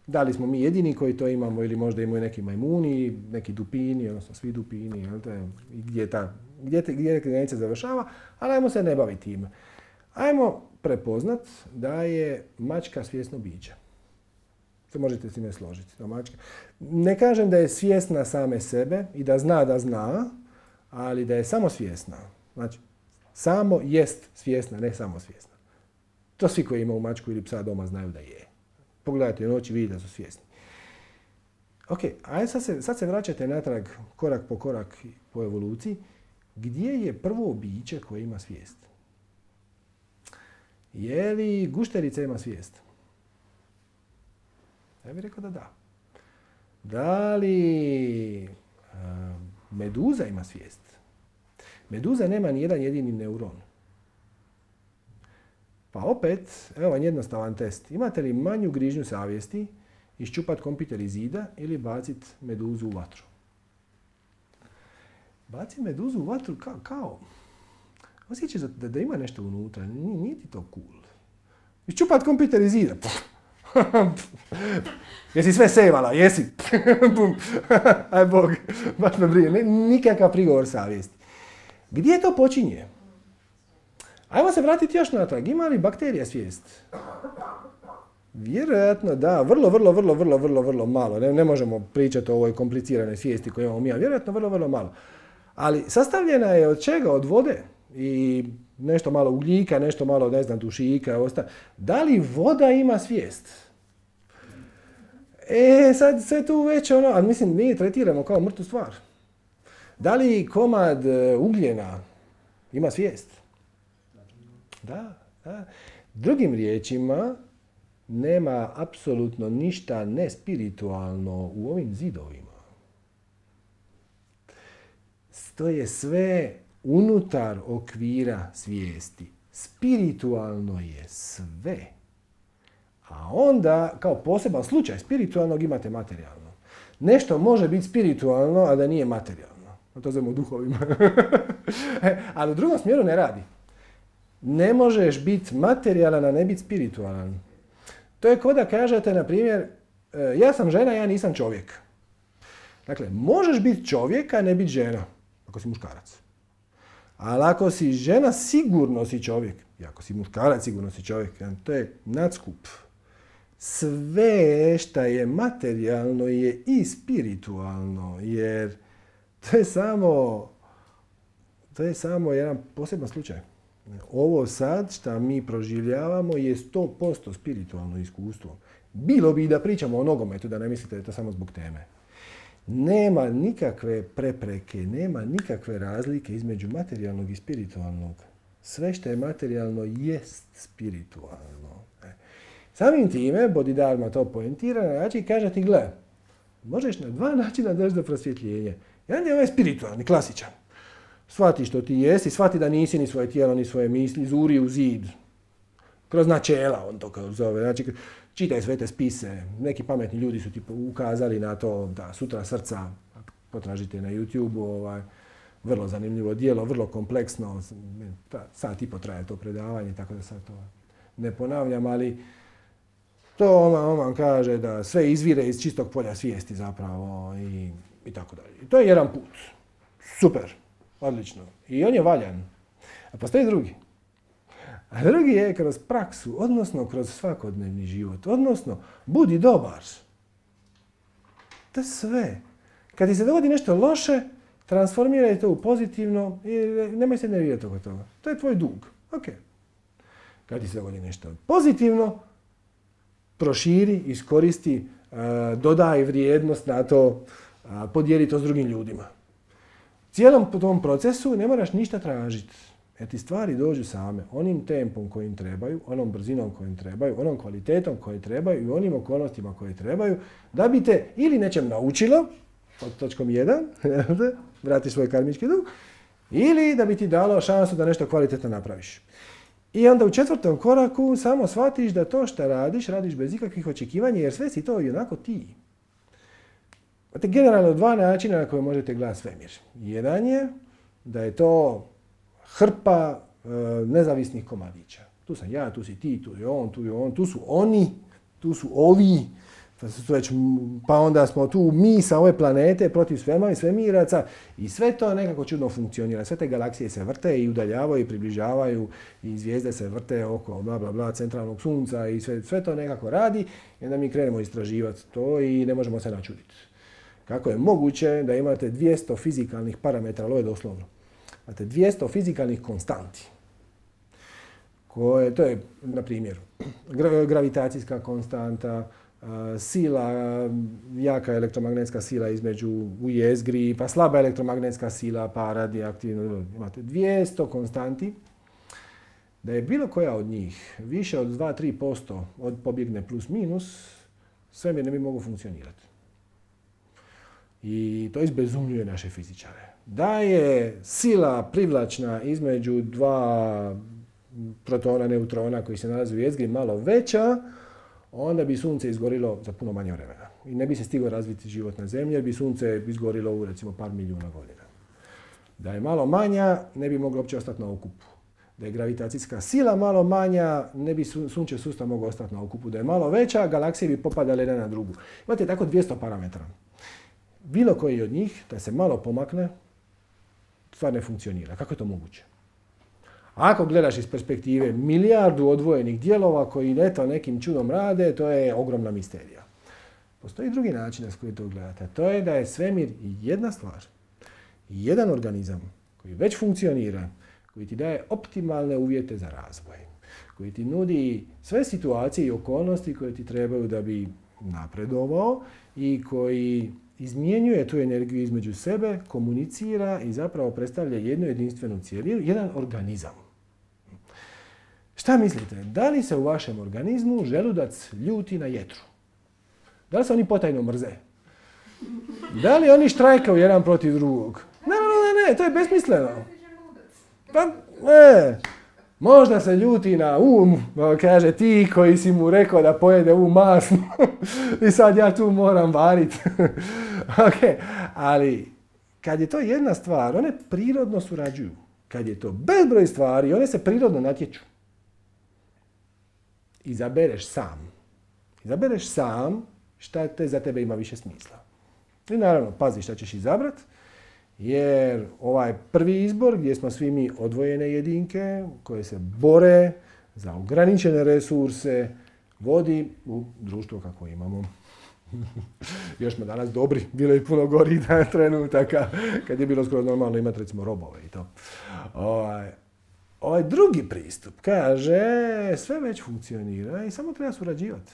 da li smo mi jedini koji to imamo ili možda imaju neki majmuni, neki dupini, odnosno svi dupini, jel, te, i gdje, ta, gdje, te, gdje granica završava, ali ajmo se ne baviti time. Ajmo prepoznat da je mačka svjesno biće. Se možete s time složiti. Da mačka. Ne kažem da je svjesna same sebe i da zna da zna, ali da je samo svjesna. Znači, samo jest svjesna, ne samo svjesna. To svi koji imaju mačku ili psa doma znaju da je. Pogledajte u noći, vidite da su svjesni. Ok, ajde sad se, sad se vraćate natrag korak po korak po evoluciji. Gdje je prvo biće koje ima svijest? Je li gušterica ima svijest? Ja bih rekao da da. Da li uh, meduza ima svijest? Meduza nema ni jedan jedini neuron. Pa opet, evo vam jednostavan test. Imate li manju grižnju savjesti iščupat kompjuter iz zida ili bacit meduzu u vatru? Bacit meduzu u vatru kao, kao osjećaš da, da ima nešto unutra, nije, nije ti to cool. Iščupat kompjuter iz zida. Jesi sve sejvala, jesi. Aj Bog, baš me brije. Nikakav prigovor savjesti. Gdje to počinje? Ajmo se vratiti još natrag. Ima li bakterija svijest? Vjerojatno da. Vrlo, vrlo, vrlo, vrlo, vrlo, vrlo malo. Ne, ne možemo pričati o ovoj kompliciranoj svijesti koju imamo mi. Vjerojatno vrlo, vrlo malo. Ali sastavljena je od čega? Od vode i nešto malo ugljika, nešto malo, ne znam, dušika. Osta. Da li voda ima svijest? E, sad sve tu već ono, ali mislim, mi tretiramo kao mrtvu stvar. Da li komad ugljena ima svijest? Da, da. Drugim riječima, nema apsolutno ništa nespiritualno u ovim zidovima. To je sve unutar okvira svijesti. Spiritualno je sve. A onda, kao poseban slučaj spiritualnog, imate materijalno. Nešto može biti spiritualno, a da nije materijalno. To zovemo duhovima. Ali u drugom smjeru ne radi. Ne možeš biti materijalan, a ne biti spiritualan. To je kao da kažete, na primjer, ja sam žena, ja nisam čovjek. Dakle, možeš biti čovjek, a ne biti žena, ako si muškarac. Ali ako si žena, sigurno si čovjek. I ako si muškarac, sigurno si čovjek. To je nadskup. Sve što je materijalno je i spiritualno, jer to je samo, to je samo jedan poseban slučaj. Ovo sad što mi proživljavamo je sto posto spiritualno iskustvo. Bilo bi da pričamo o nogometu, da ne mislite da je to samo zbog teme. Nema nikakve prepreke, nema nikakve razlike između materijalnog i spiritualnog. Sve što je materijalno jest spiritualno. Samim time, Bodhidharma to poentira na način i kaže ti, gle, možeš na dva načina doći do prosvjetljenja. Jedan je ovaj spiritualni, klasičan. Shvati što ti jesi, shvati da nisi ni svoje tijelo, ni svoje misli, zuri u zid. Kroz načela, on to zove. Znači, čitaj sve te spise. Neki pametni ljudi su ti ukazali na to da Sutra srca, potražite na YouTube-u, ovaj, vrlo zanimljivo djelo, vrlo kompleksno. Sat i po traje to predavanje, tako da sad to ne ponavljam, ali to on vam kaže da sve izvire iz čistog polja svijesti zapravo i, i tako dalje. I to je jedan put. Super. Odlično. I on je valjan. A postoji drugi. A drugi je kroz praksu, odnosno kroz svakodnevni život. Odnosno, budi dobar. To je sve. Kad ti se dogodi nešto loše, transformiraj to u pozitivno i nemoj se nervirati oko toga. To je tvoj dug. Ok. Kad ti se dogodi nešto pozitivno, proširi, iskoristi, dodaj vrijednost na to, podijeli to s drugim ljudima. Cijelom tom procesu ne moraš ništa tražiti. Jer ti stvari dođu same, onim tempom kojim trebaju, onom brzinom kojim trebaju, onom kvalitetom kojim trebaju i onim okolnostima koje trebaju, da bi te ili nečem naučilo, pod točkom jedan, vrati svoj karmički dug, ili da bi ti dalo šansu da nešto kvalitetno napraviš. I onda u četvrtom koraku samo shvatiš da to što radiš, radiš bez ikakvih očekivanja, jer sve si to i onako ti. Imate generalno dva načina na koje možete gledati svemir. Jedan je da je to hrpa e, nezavisnih komadića. Tu sam ja, tu si ti, tu je on, tu je on, tu su oni, tu su ovi. Već, pa onda smo tu mi sa ove planete protiv svema i svemiraca i sve to nekako čudno funkcionira. Sve te galaksije se vrte i udaljavaju i približavaju i zvijezde se vrte oko bla bla bla centralnog sunca i sve, sve to nekako radi i onda mi krenemo istraživati to i ne možemo se načuditi. Kako je moguće da imate dvjesto fizikalnih parametara, ali ovo je doslovno. Imate dvjesto fizikalnih konstanti. Koje, to je, na primjer, gravitacijska konstanta, sila, jaka elektromagnetska sila između u jezgri, pa slaba elektromagnetska sila, pa radioaktivno. Imate dvjesto konstanti. Da je bilo koja od njih više od dva do tri posto od pobjegne plus minus, svemir ne bi mogao funkcionirati. I to izbezumljuje naše fizičare. Da je sila privlačna između dva protona, neutrona koji se nalaze u jezgri malo veća, onda bi sunce izgorilo za puno manje vremena. I ne bi se stigao razviti život na zemlji, jer bi sunce izgorilo u recimo par milijuna godina. Da je malo manja, ne bi moglo uopće ostati na okupu. Da je gravitacijska sila malo manja, ne bi sunčev sustav mogao ostati na okupu. Da je malo veća, galaksije bi popadale jedna na drugu. Imate tako dvjesto parametara. Bilo koji od njih, da se malo pomakne, stvar ne funkcionira. Kako je to moguće? Ako gledaš iz perspektive milijardu odvojenih dijelova koji eto nekim čudom rade, to je ogromna misterija. Postoji drugi način na koji to gledate. To je da je svemir jedna stvar, jedan organizam koji već funkcionira, koji ti daje optimalne uvjete za razvoj, koji ti nudi sve situacije i okolnosti koje ti trebaju da bi napredovao i koji izmjenjuje tu energiju između sebe, komunicira i zapravo predstavlja jednu jedinstvenu cijelinu, jedan organizam. Šta mislite? Da li se u vašem organizmu želudac ljuti na jetru? Da li se oni potajno mrze? Da li oni štrajkaju jedan protiv drugog? Ne, ne, ne, to je besmisleno. Pa, ne. Možda se ljuti na um, kaže ti koji si mu rekao da pojede um masno i sad ja tu moram variti. Okay. Ali kad je to jedna stvar, one prirodno surađuju. Kad je to bezbroj stvari, one se prirodno natječu. Izabereš sam. Izabereš sam šta te za tebe ima više smisla. I naravno, pazi šta ćeš izabrat, jer ovaj prvi izbor gdje smo svi mi odvojene jedinke koje se bore za ograničene resurse vodi u društvo kako imamo. Još smo danas dobri, bilo je puno gorih trenutaka kad je bilo skoro normalno imati recimo robove i to. Ovaj, ovaj drugi pristup kaže sve već funkcionira i samo treba surađivati.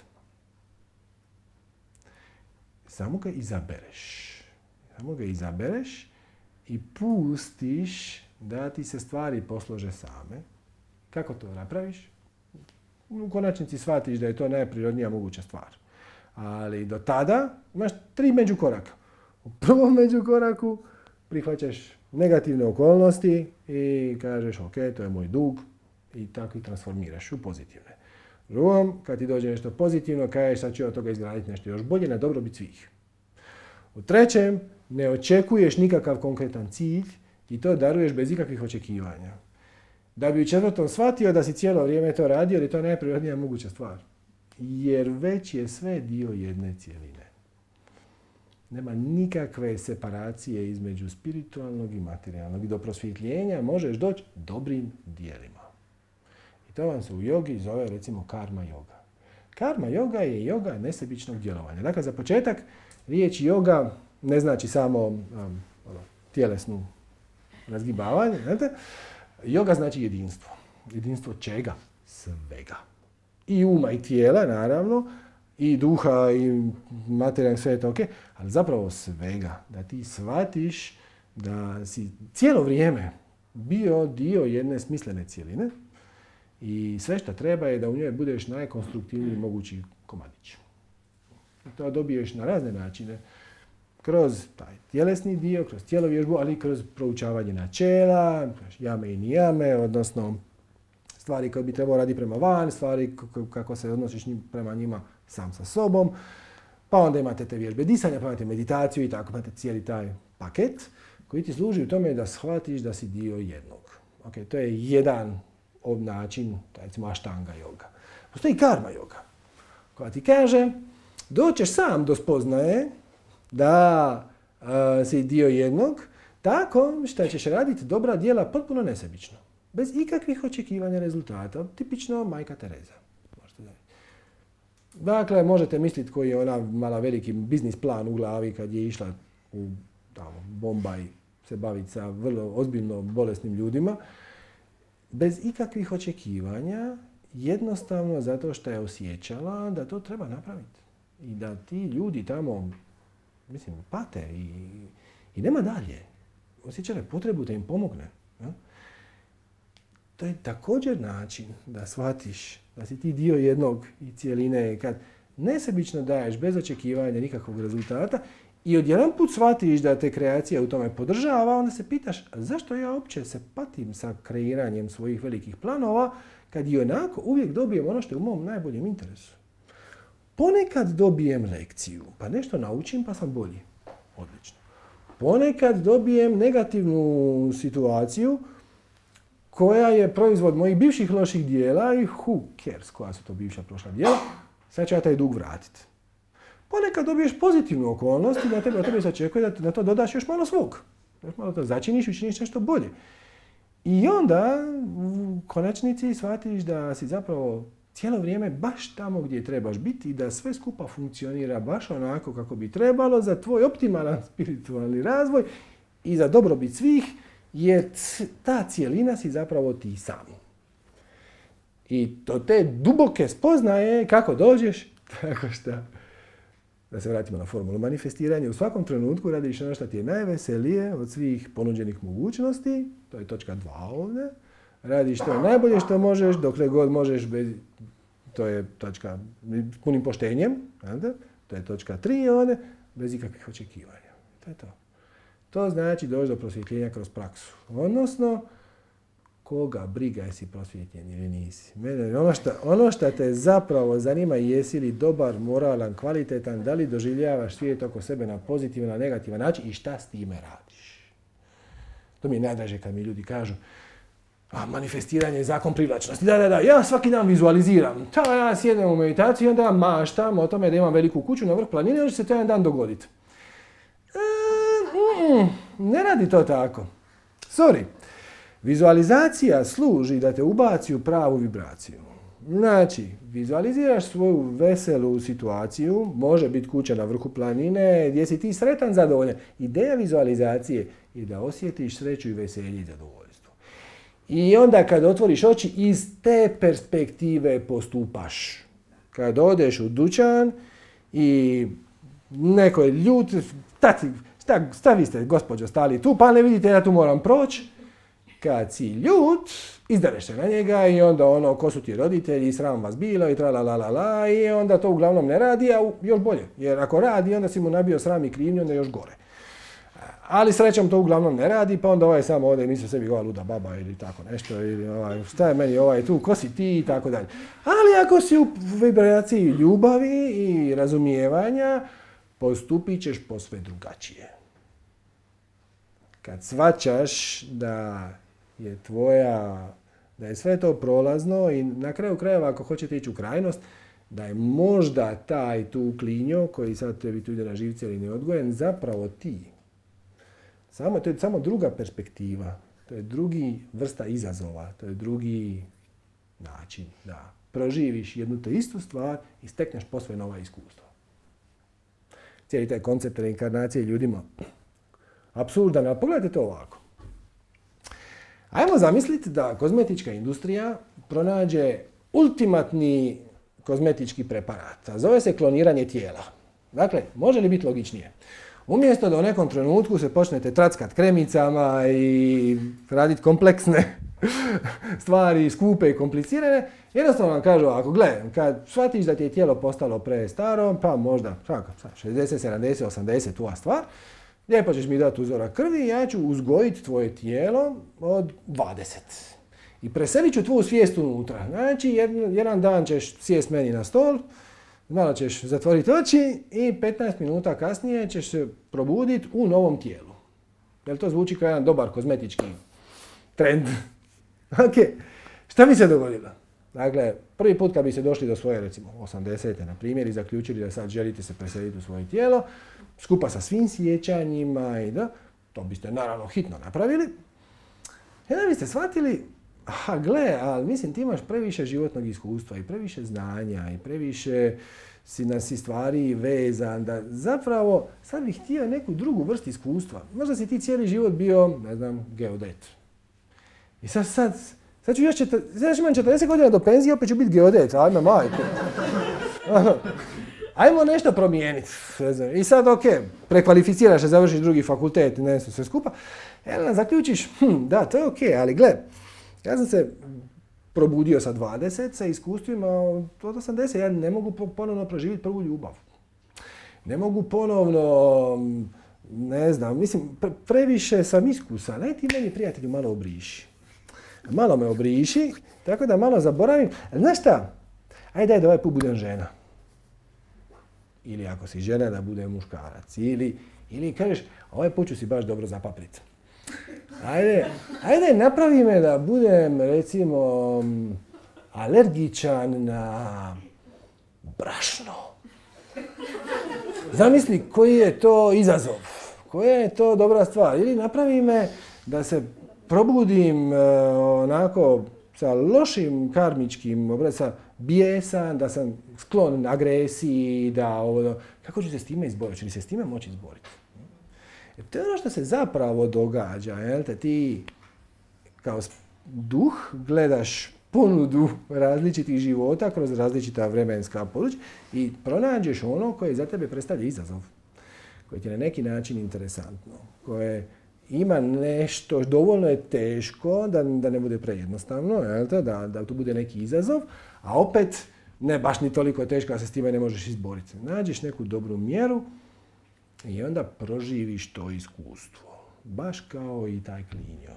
Samo ga izabereš. Samo ga izabereš i pustiš da ti se stvari poslože same. Kako to napraviš? U konačnici shvatiš da je to najprirodnija moguća stvar. Ali do tada imaš tri međukoraka. U prvom međukoraku prihvaćaš negativne okolnosti i kažeš ok, to je moj dug i tako ih transformiraš u pozitivne. U drugom, kad ti dođe nešto pozitivno, kažeš sad ću od toga izgraditi nešto još bolje na dobrobit svih. U trećem, ne očekuješ nikakav konkretan cilj i to daruješ bez ikakvih očekivanja. Da bi u četvrtom shvatio da si cijelo vrijeme to radio, jer je to najprirodnija moguća stvar. Jer već je sve dio jedne cijeline. Nema nikakve separacije između spiritualnog i materijalnog. I do prosvjetljenja možeš doći dobrim dijelima. I to vam se u jogi zove recimo karma yoga. Karma yoga je yoga nesebičnog djelovanja. Dakle, za početak, riječ yoga ne znači samo um, tjelesnu razgibavanje. Znate? Yoga znači jedinstvo. Jedinstvo čega? Svega. I uma i tijela, naravno, i duha i materijalnog, sve je to ok, ali zapravo svega. Da ti shvatiš da si cijelo vrijeme bio dio jedne smislene cijeline i sve što treba je da u njoj budeš najkonstruktivniji mogući komadić. I to dobiješ na razne načine. Kroz taj tjelesni dio, kroz tjelovježbu, ali i kroz proučavanje načela, jame i nijame, odnosno stvari koje bi trebao raditi prema van, stvari kako se odnosiš prema njima sam sa sobom. Pa onda imate te vježbe disanja, pa imate meditaciju i tako, imate cijeli taj paket koji ti služi u tome da shvatiš da si dio jednog. Okay, to je jedan od način, recimo aštanga yoga. Postoji karma yoga koja ti kaže doćeš sam do spoznaje da uh, si dio jednog, tako što ćeš raditi dobra djela potpuno nesebično. Bez ikakvih očekivanja rezultata. Tipično majka Tereza. Dakle, možete misliti koji je ona mala veliki biznis plan u glavi kad je išla u tamo, Bombaj se baviti sa vrlo ozbiljno bolesnim ljudima. Bez ikakvih očekivanja, jednostavno zato što je osjećala da to treba napraviti. I da ti ljudi tamo, mislim, pate i, i nema dalje. Osjećala je potrebu da im pomogne. Ja? To je također način da shvatiš da si ti dio jednog i cijeline kad nesebično daješ bez očekivanja nikakvog rezultata i odjedanput shvatiš da te kreacija u tome podržava, onda se pitaš zašto ja uopće se patim sa kreiranjem svojih velikih planova kad i onako uvijek dobijem ono što je u mom najboljem interesu. Ponekad dobijem lekciju, pa nešto naučim pa sam bolji. Odlično. Ponekad dobijem negativnu situaciju koja je proizvod mojih bivših loših dijela i who cares koja su to bivša prošla dijela, sad ću ja taj dug vratiti. Ponekad dobiješ pozitivnu okolnost i na tebe, od tebe se očekuje da na to dodaš još malo svog. Još malo to začiniš i učiniš nešto bolje. I onda u konačnici shvatiš da si zapravo cijelo vrijeme baš tamo gdje trebaš biti i da sve skupa funkcionira baš onako kako bi trebalo za tvoj optimalan spiritualni razvoj i za dobrobit svih, jer ta cijelina si zapravo ti sam. I to te duboke spoznaje kako dođeš, tako šta, da se vratimo na formulu manifestiranja, u svakom trenutku radiš ono što ti je najveselije od svih ponuđenih mogućnosti, to je točka dva ovdje, radiš to najbolje što možeš, dokle god možeš, bez, to je točka s punim poštenjem, to je točka tri ovdje, bez ikakvih očekivanja. To je to. To znači doći do prosvjetljenja kroz praksu. Odnosno, koga briga jesi prosvjetljen ili nisi. Mene, ono, što, ono što te zapravo zanima jesi li dobar, moralan, kvalitetan, da li doživljavaš svijet oko sebe na pozitivan, na negativan način i šta s time radiš. To mi je najdraže kad mi ljudi kažu a manifestiranje je zakon privlačnosti. Da, da, da, ja svaki dan vizualiziram. Ta, ja sjednem u meditaciju i onda maštam o tome da imam veliku kuću na vrh planine, onda će se to jedan dan dogoditi. E, mm, ne radi to tako. Sorry. Vizualizacija služi da te ubaci u pravu vibraciju. Znači, vizualiziraš svoju veselu situaciju, može biti kuća na vrhu planine, gdje si ti sretan, zadovoljan. Ideja vizualizacije je da osjetiš sreću i veselje i zadovoljstvo. I onda kad otvoriš oči, iz te perspektive postupaš. Kad odeš u dućan i neko je ljut, tati, šta, šta vi ste, gospođo, stali tu, pa ne vidite ja tu moram proći. Kad si ljut, izdereš se na njega i onda ono, ko su ti roditelji, sram vas bilo i tra la la la la i onda to uglavnom ne radi, a još bolje. Jer ako radi, onda si mu nabio sram i krivnju, onda još gore. Ali srećom to uglavnom ne radi, pa onda ovaj samo ode i misli sebi ova luda baba ili tako nešto, ili ovaj, šta je meni ovaj tu, ko si ti i tako dalje. Ali ako si u vibraciji ljubavi i razumijevanja, postupit ćeš posve drugačije. Kad shvaćaš da je tvoja, da je sve to prolazno i na kraju krajeva ako hoćete ići u krajnost, da je možda taj tu klinjo koji sad tebi tu ide na živce ili neodgojen, zapravo ti. Samo, to je samo druga perspektiva, to je drugi vrsta izazova, to je drugi način da proživiš jednu te istu stvar i stekneš posve nova iskustva. Cijeli taj koncept reinkarnacije ljudima apsurdan, ali pogledajte to ovako. Ajmo zamisliti da kozmetička industrija pronađe ultimatni kozmetički preparat, a zove se kloniranje tijela. Dakle, može li biti logičnije? Umjesto da u nekom trenutku se počnete trackat kremicama i raditi kompleksne stvari, skupe i komplicirane, jednostavno vam kažu ovako, gle, kad shvatiš da ti je tijelo postalo prestaro, pa možda šezdeset, sedamdeset, osamdeset tuva stvar, lijepo ćeš mi dati uzorak krvi i ja ću uzgojiti tvoje tijelo od dvadeset. I preselit ću tvoju svijest unutra. Znači, jedan, jedan dan ćeš sjest meni na stol, malo ćeš zatvoriti oči i petnaest minuta kasnije ćeš se probuditi u novom tijelu. Jel to zvuči kao jedan dobar kozmetički trend? Ok, šta bi se dogodilo? Dakle, prvi put kad bi se došli do svoje, recimo, osamdesete na primjer i zaključili da sad želite se preseliti u svoje tijelo, skupa sa svim sjećanjima i da, to biste naravno hitno napravili. I onda biste shvatili, aha, gle, ali mislim ti imaš previše životnog iskustva i previše znanja i previše si na si stvari vezan, da zapravo sad bih htio neku drugu vrstu iskustva. Možda si ti cijeli život bio, ne znam, geodet. I sad, sad, sad ću još četir, sad imam četrdeset godina do penzije, opet ću biti geodet, ajme majko. Ajmo nešto promijeniti. I sad, ok, prekvalificiraš se, završiš drugi fakultet, ne znam, sve skupa. E, zaključiš, hm, da, to je ok, ali gle, ja sam se probudio sa dvadeset sa iskustvima od osamdeset. Ja ne mogu ponovno proživjeti prvu ljubav. Ne mogu ponovno, ne znam, mislim, pre, previše sam iskusan. Aj ti meni, prijatelju, malo obriši. Malo me obriši, tako da malo zaboravim. Znaš šta? Ajde, daj da ovaj put budem žena. Ili ako si žena, da bude muškarac. Ili, ili kažeš, ovaj put ću si baš dobro zapaprit. Ajde, ajde, napravi me da budem, recimo, alergičan na brašno. Zamisli koji je to izazov, koja je to dobra stvar. Ili napravi me da se probudim e, onako sa lošim karmičkim obracama, bijesan, da sam sklon agresiji, da ovo... Kako ću se s time izboriti? Će li se s time moći izboriti? Jer to je ono što se zapravo događa. Jel te? Ti kao duh gledaš ponudu različitih života kroz različita vremenska područja i pronađeš ono koje za tebe predstavlja izazov, koje ti je na neki način interesantno, koje ima nešto, dovoljno je teško da, da ne bude prejednostavno, jel te? Da, da tu bude neki izazov, a opet ne baš ni toliko teško da se s time ne možeš izboriti. Nađeš neku dobru mjeru i onda proživiš to iskustvo. Baš kao i taj klinjo.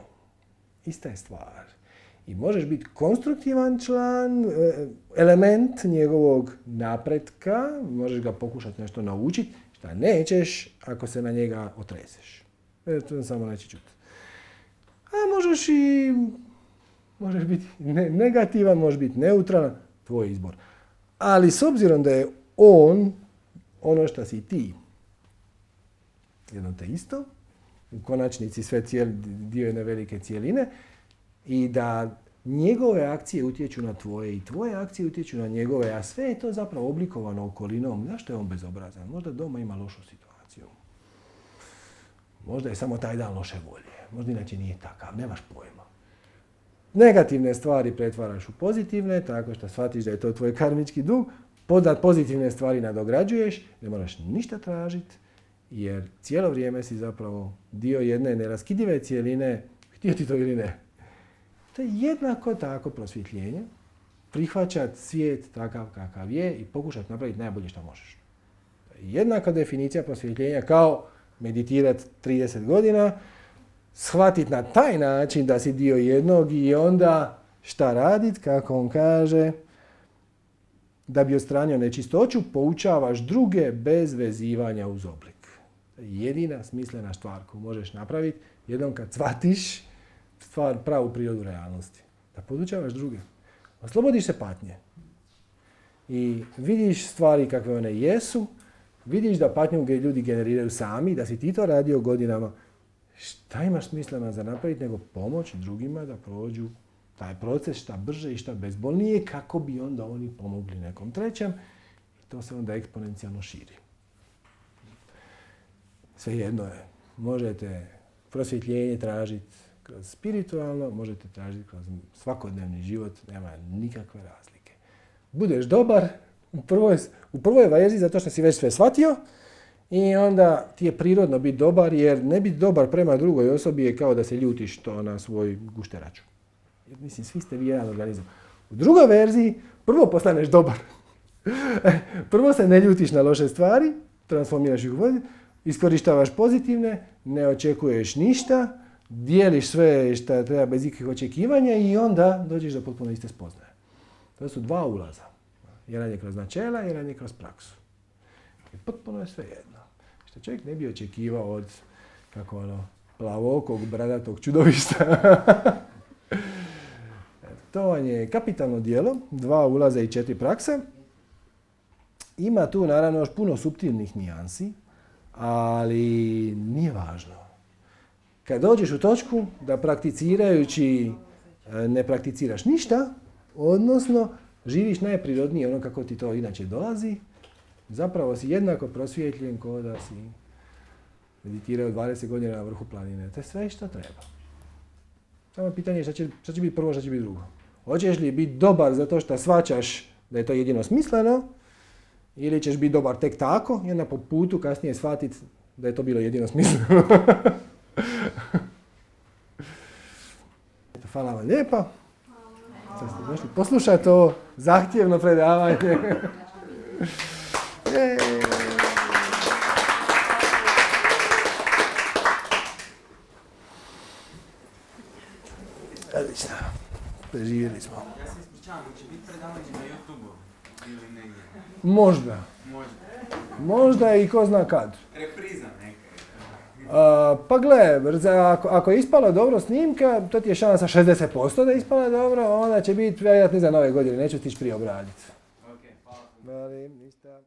Ista je stvar. I možeš biti konstruktivan član, element njegovog napretka, možeš ga pokušati nešto naučiti, šta nećeš ako se na njega otreseš. E, to samo neće čuti. A možeš i možeš biti negativan, možeš biti neutralan, tvoj izbor. Ali s obzirom da je on ono što si ti, jedno te isto, u konačnici sve cijeli, dio jedne velike cijeline, i da njegove akcije utječu na tvoje i tvoje akcije utječu na njegove, a sve je to zapravo oblikovano okolinom. Zašto je on bezobrazan? Možda doma ima lošu situaciju. Možda je samo taj dan loše volje. Možda inače nije takav, nemaš pojma. Negativne stvari pretvaraš u pozitivne, tako što shvatiš da je to tvoj karmički dug, podat pozitivne stvari nadograđuješ, ne moraš ništa tražiti, jer cijelo vrijeme si zapravo dio jedne neraskidive cijeline, htio ti to ili ne. To je jednako tako prosvjetljenje, prihvaćati svijet takav kakav je i pokušati napraviti najbolje što možeš. Jednaka definicija prosvjetljenja kao meditirati trideset godina, shvatiti na taj način da si dio jednog i onda šta raditi, kako on kaže, da bi odstranio nečistoću, poučavaš druge bez vezivanja uz oblik. Jedina smislena stvar koju možeš napraviti, jednom kad shvatiš stvar, pravu prirodu realnosti. Da podučavaš druge. Oslobodiš se patnje. I vidiš stvari kakve one jesu, vidiš da patnju ljudi generiraju sami, da si ti to radio godinama. Šta imaš smisleno za napraviti nego pomoći drugima da prođu taj proces šta brže i šta bezbolnije, kako bi onda oni pomogli nekom trećem. I to se onda eksponencijalno širi. Svejedno je. Možete prosvjetljenje tražiti kroz spiritualno, možete tražiti kroz svakodnevni život, nema nikakve razlike. Budeš dobar u prvoj, u prvoj verziji zato što si već sve shvatio i onda ti je prirodno biti dobar, jer ne biti dobar prema drugoj osobi je kao da se ljutiš to na svoj gušteraču. Jer, mislim, svi ste vi jedan organizam. U drugoj verziji prvo postaneš dobar. Prvo se ne ljutiš na loše stvari, transformiraš ih u vodi, iskorištavaš pozitivne, ne očekuješ ništa, dijeliš sve što treba bez ikakvih očekivanja i onda dođeš do potpuno iste spoznaje. To su dva ulaza. Jedan je kroz načela, jedan je kroz praksu. I potpuno je sve jedno. Što čovjek ne bi očekivao od kako ono, plavokog, bradatog čudovišta. To vam je kapitalno djelo, dva ulaza i četiri prakse. Ima tu naravno još puno suptilnih nijansi, ali nije važno. Kad dođeš u točku da prakticirajući ne prakticiraš ništa, odnosno živiš najprirodnije ono kako ti to inače dolazi, zapravo si jednako prosvjetljen kao da si meditirao dvadeset godina na vrhu planine. To je sve što treba. Samo pitanje je šta će, šta će biti prvo, šta će biti drugo. Hoćeš li biti dobar zato što shvaćaš da je to jedino smisleno, ili ćeš biti dobar tek tako i onda po putu kasnije shvatiti da je to bilo jedino smisleno. Hvala vam lijepa. što ste došli poslušati ovo zahtjevno predavanje. Odlično. Preživjeli smo. Ja se ispričavam, će biti predavanje na YouTube-u ili negdje? Možda. Možda. Možda i ko zna kad. Repriza neka. Uh, pa gle, ako, ako je ispala dobro snimka, to ti je šansa šezdeset posto da je ispala dobro, onda će biti vjerojatno za nove godine, neću stići prije obraditi. Ok, hvala. Vali, ništa.